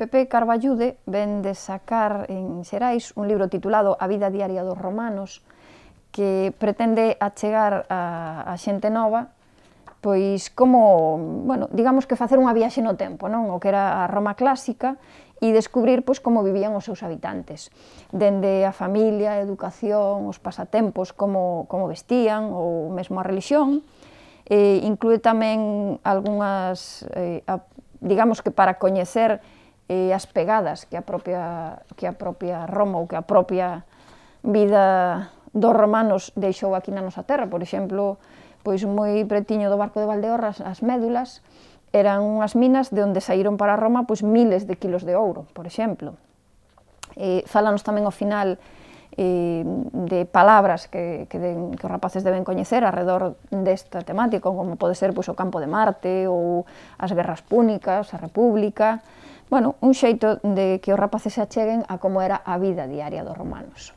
Pepe Carballude ven de sacar en Xerais un libro titulado A vida diaria dos romanos, que pretende achegar a xente nova pois como, bueno, digamos que facer unha viaxe no tempo, non? O que era a Roma clásica e descubrir pois como vivían os seus habitantes, dende a familia, a educación, os pasatempos, como vestían ou mesmo a religión. Inclúe tamén algunhas, digamos que para coñecer as pegadas que a propia Roma ou que a propia vida dos romanos deixou aquí na nosa terra. Por exemplo, pois moi pretiño do Barco de Valdeorras, as Médulas, eran unhas minas de onde saíron para Roma pois miles de kilos de ouro, por exemplo. Fálanos tamén ao final de palabras que os rapaces deben coñecer arredor desta temática, como pode ser pois, o campo de Marte ou as guerras púnicas, a República. Bueno, un xeito de que os rapaces se acheguen a como era a vida diaria dos romanos.